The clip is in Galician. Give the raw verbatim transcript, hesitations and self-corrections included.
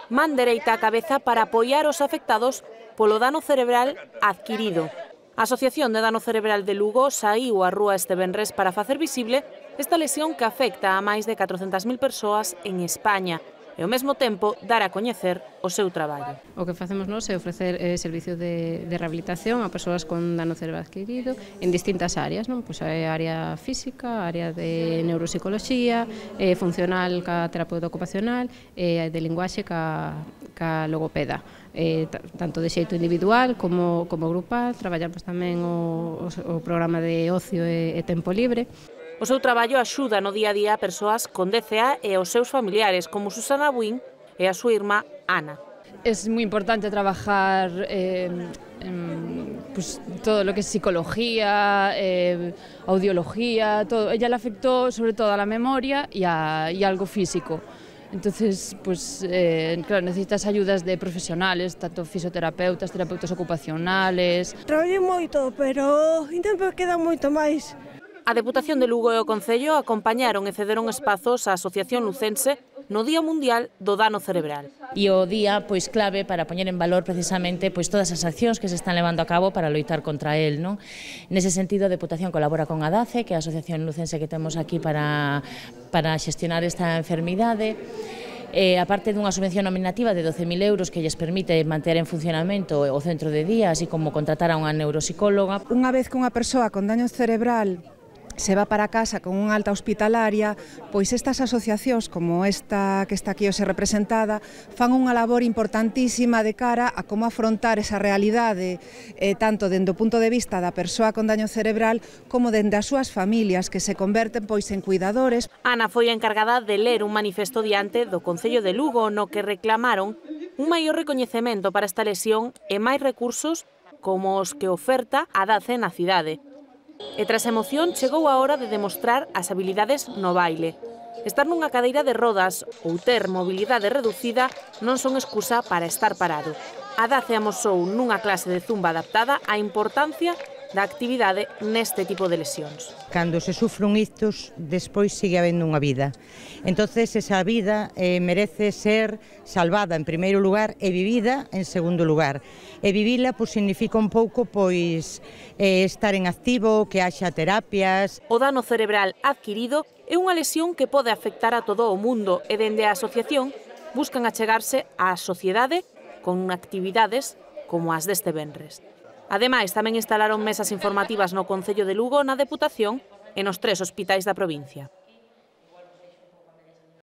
man dereita á cabeza para apoiar os afectados polo dano cerebral adquirido. A Asociación de Dano Cerebral de Lugo saíu á rúa este venres para facer visible esta lesión que afecta a máis de catrocentas mil persoas en España e ao mesmo tempo dar a coñecer o seu traballo. O que facemos nós é ofrecer eh, servicio de, de rehabilitación a persoas con dano cerebral adquirido en distintas áreas, non? Pois a área física, a área de neuropsicoloxía, eh, funcional ca terapeuta ocupacional e eh, de linguaxe ca, ca logopeda. Eh, tanto de xeito individual como, como grupal, traballamos tamén o, o, o programa de ocio e, e tempo libre. O seu traballo axuda no día a día a persoas con D C A e aos seus familiares, como Susana Buín e a súa irmá Ana. Es muy importante trabajar eh, en, pues, todo lo que es psicología, eh, audiología, todo. Ella le afectó sobre todo a la memoria y a, y a algo físico. Entonces, pues, eh, claro, necesitas ayudas de profesionales, tanto fisioterapeutas, terapeutas ocupacionales. Traballei moito, pero intento que queda moito máis. A Deputación de Lugo e o Concello acompañaron e cederon espazos á Asociación Lucense no Día Mundial do Dano Cerebral. E o día pois clave para poñer en valor precisamente pois todas as accións que se están levando a cabo para loitar contra el, non? Nese sentido, a Deputación colabora con a DACE, que é a Asociación Lucense que temos aquí para para xestionar esta enfermidade. Eh, a parte dunha subvención nominativa de doce mil euros que lles permite manter en funcionamento o centro de día, así como contratar a unha neuropsicóloga. Unha vez que unha persoa con daño cerebral se va para casa con unha alta hospitalaria, pois estas asociacións como esta que está aquí hoxe representada fan unha labor importantísima de cara a como afrontar esa realidade eh, tanto dende o punto de vista da persoa con daño cerebral como dende as súas familias que se converten pois en cuidadores. Ana foi a encargada de ler un manifesto diante do Concello de Lugo no que reclamaron un maior recoñecemento para esta lesión e máis recursos como os que oferta a DACE na cidade. E tras a emoción chegou a hora de demostrar as habilidades no baile. Estar nunha cadeira de rodas ou ter mobilidade reducida non son excusa para estar parado. A DACE amosou nunha clase de zumba adaptada a importancia da actividade neste tipo de lesións. Cando se sufre un ictus, despois sigue habendo unha vida. Entonces esa vida eh, merece ser salvada en primeiro lugar e vivida en segundo lugar. E vivila pois, significa un pouco pois eh, estar en activo, que haxa terapias. O dano cerebral adquirido é unha lesión que pode afectar a todo o mundo e dende a asociación buscan achegarse á sociedade con actividades como as deste venres. Ademais, tamén instalaron mesas informativas no Concello de Lugo, na Deputación e nos tres hospitais da provincia.